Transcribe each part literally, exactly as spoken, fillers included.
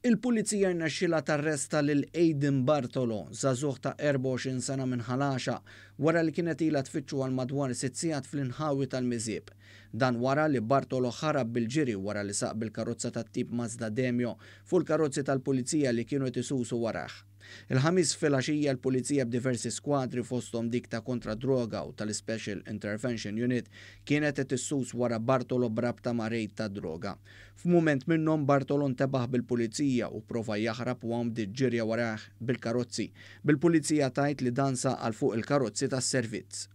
Il-Pulizija rnexxielha tarresta lil Aiden Bartolo, żagħżugħ ta' erbgħa u għoxrin sena minn Ħal Għaxaq, wara li kienet ilha tfittxu għal madwar sitt sigħat fl-inħawi tal-Miżieb. Dan wara li Bartolo ħarab bil-ġiri wara li saq bil-karozza tat-tip Mazda Demio fuq il-karozzi tal-Pulizija li kienu qed isusu warah. Il-Ħamis filgħaxija l-Pulizija b'diversi skwadri, fosthom dik ta' kontra droga u tal-Special Intervention Unit, kienet qed issus wara Bartolo b'rabta ma' rejd ta' droga. F'mument minnhom Bartolo ntebaħ bil-Pulizija u prova jaħrab u hawn bdiet ġirja warah bil-karozzi, bil-Pulizija tgħid li dan saq għal fuq il-karozzi tas-servizz.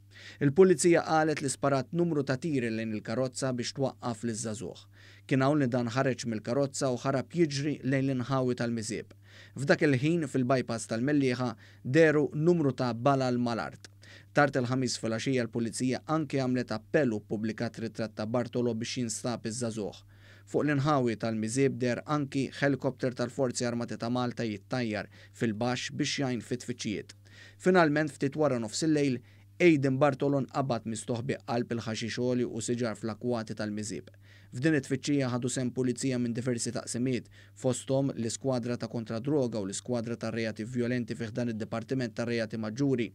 Il-Pulizija qalet li sparat numru ta' tiri lejn il-karozza biex twaqqaf liż-żagħżugħ. Kien hawn li dan ħareġ mill-karozza u ħarab jiġri lejn l-inħawi tal-Miżieb. F'dak il-ħin fil-bypass tal-Mellieħa dehru numru ta' balal mal-art. Tard il-Ħamis filgħaxija l-Pulizija anke għamlet appell u ppubblikat ritratt ta' Bartolo biex jinstab iż-żagħżugħ. Fuq l-inħawi tal-Miżieb deher anki helikopter tal-Forzi Armati ta' Malta jittajjar fil-baxx biex jgħin fit-tfittxijiet. Finalment, ftit wara nofs il-lejl, Aiden Bartolo nqabad mistoħbi qalb il-ħaxix għoli u siġar fl-akwati tal-Miżieb. F'din it-tfittxija ħadu sehem pulizija minn diversi taqsimiet, fosthom l-iskwadra ta' kontra droga u l-iskwadra ta' reati violenti fi ħdan id-Dipartiment ta' Reati Maġġuri,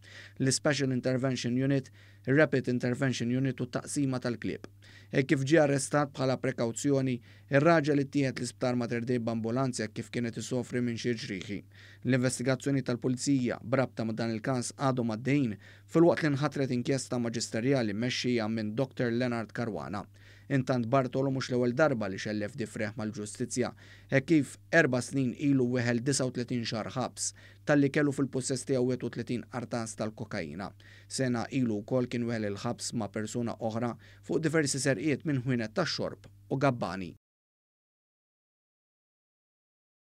l-Special Intervention Unit, Rapid Intervention Unit u taqsima tal-klieb. E kif ġie arrestat bħala prekawzjoni, ir-raġel ittieħed l-isptar Mater Dei b'ambulanza kif kienet isofri minn xi ġrieħi. L-investigazzjoni tal-Pulizija b'rabta ma' dan il-każ għadhom għaddejjin, filwaqt li nħatret inkjesta maġisterjali mmexxija minn Doktor Leonard Caruana. Intant Bartolo mhux l-ewwel darba li xellef difreħ mal-ġustizzja, hekk kif erba' snin ilu weħel disgħa u tletin xahar ħabs talli kellu fil-pussess tiegħu wieħed u tletin qartas tal-kokaina. Sena ilu wkoll kien weħel il-ħabs ma' persuna oħra fuq diversi serqiet minn ħwienet tax-xorb u gabbani.